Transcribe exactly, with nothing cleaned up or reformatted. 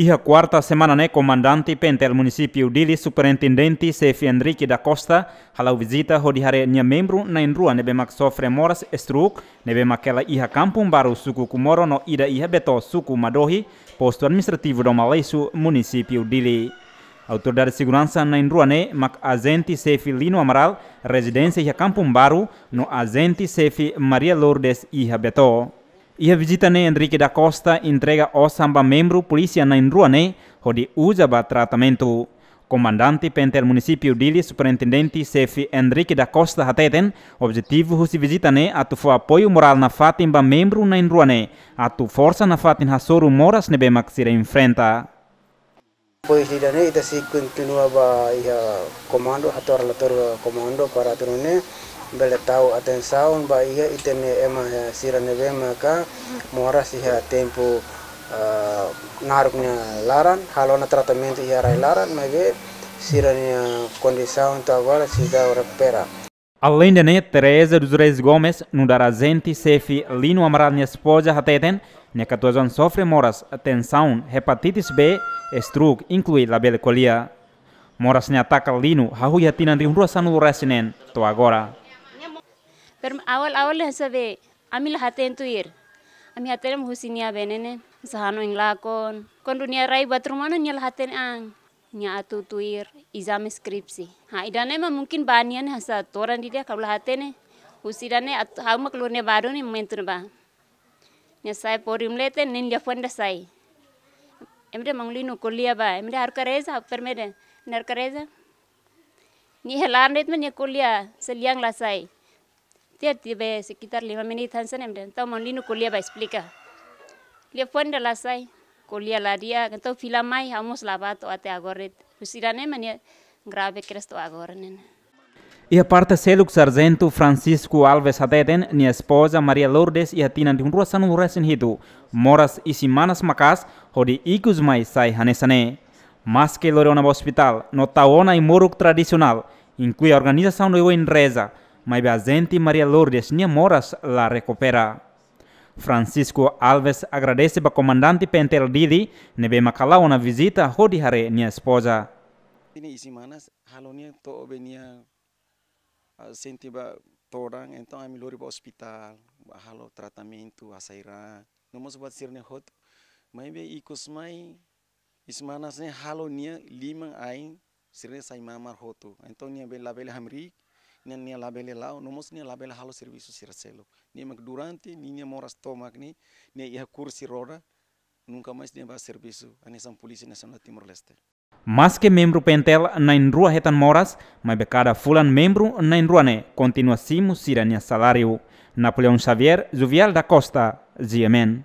Iha kuarta semana ne'e, Komandante PNTL Munisípiu Dili, Superintendente Xefe Henrique da Costa, hala'o vizita hodi haree nia membru na'in-rua ne'ebé mak sofre moras stroke, ne'ebé mak hela iha Kampung Baru, suku Comoro, no ida iha Beto, suku Madohi, Postu Administrativu Dom Aleixo, Munisípiu Dili. Autoridade seguransa na'in-rua ne'e mak ajente xefe Lino Amaral, rezidénsia iha Kampung Baru, no ajente xefe Maria Lourdes iha Beto. Iha vizita ne'e, Henrique da Costa entrega osan ba membru polísia na'in-rua ne'e hodi uza ba tratamentu. Komandante PNTL Munisípiu Dili, Superintendente Xefe Henrique da Costa, hateten, objetivu husi vizita ne'e atu fó apoiu morál nafatin ba membru na'in-rua ne'e, atu forsa nafatin hasoru moras ne'ebé mak sira enfrenta. Depois de ida-ne'e, ita sei kontinua ba iha komandu, hato'o relatóriu ba komandu para atu nune'e bele tau atensaun ba iha ita-nia ema, eh, sira ne'ebé maka moras iha tempu, ah, naruk nia laran, halo ona tratamentu iha rai laran, maibé sira-nia kondisaun to'o agora seidauk rekupera. Aleinde ne'e, Teresa dos Reis Gomes, nu'udar ajente xefe Lino Amaral nia espoza, hateten, nia katuas-oan sofre moras tensaun, hepatitis B, stroke, inklui labele ko'alia. Moras ne'e ataka Lino hahú iha tinan rihun rua sanulu-resin-neen to'o agora. Perm-, awal-awal hanesan be, ami la hatene tuir. Ami hatene mak husi nia be ne'e ne'e, hanesan hanoin lakon. Kuandu nia rai buat ruma ona nia la hatene an. Nia atu tuir ezame skripsi. Ha, ida-ne'e mak mungkin ba nia ne'e hanesan todan ida-idak, ha'u la hatene. Husi ida-ne'e at-, ha'u mak lori nia ba duni momentu ne'ebá. Nia sai pori um leten, nia liafuan ida sai. Ema dehan Maun Lino ko'alia ba, ema dehan haruka reza, ha'u permede. Nia haruka reza. Nia iha laran de'it mak nia ko'alia, selian la sai. Tiha tiha be sekitar lima menit hanesan ne'e, ema dehan, entaun Maun Lino ko'alia ba esplika. Liafuan ida la sai, ko'alia la di'ak, entaun fila mai, ha'u mós la bá to'o até agora de'it. Husi ida-ne'e mak nia grave kedas to'o agora ne'e. Iha parte seluk, Sarjentu Francisco Alves hateten, nia espoza Maria Lourdes iha tinan rihun rua sanulu-resin-hitu moras isin-manas maka'as, hodi ikus mai sai hanesan ne'e. Maske lori ona ba ospitál no tau ona ai-moruk tradisionál, inklui organizasaun oioin reza, maibé ajente Maria Lourdes nia moras la rekupera. Francisco Alves agradese ba Komandante PNTL Dili ne'ebé mak hala'o ona vizita hodi haree nia espoza. Nia isin-manas, halo nia to'o be nia, ah, sente ba todan, entaun ami lori ba ospitál, ba halo tratamentu, hasai raan, no mós buat sira-ne'e hotu. Maibé ikus mai, isin-manas ne'e halo nia liman-ain sira-ne'e sai mamar hotu. Entaun nia be labele hamriik, nia, nia labele la'o, no mós nia labele halo servisu sira seluk. Nia mak durante ninia moras tomak ne'e, nia iha kursi roda, nunka mais nia bá servisu hanesan Polísia Nasionál Timor-Leste. Maske membru PNTL na'in-rua hetan moras, maibé kada fulan membru na'in-rua ne'e kontinua simu sira-nia saláriu. Napoleão Xavier, Juvial da Costa, G M N.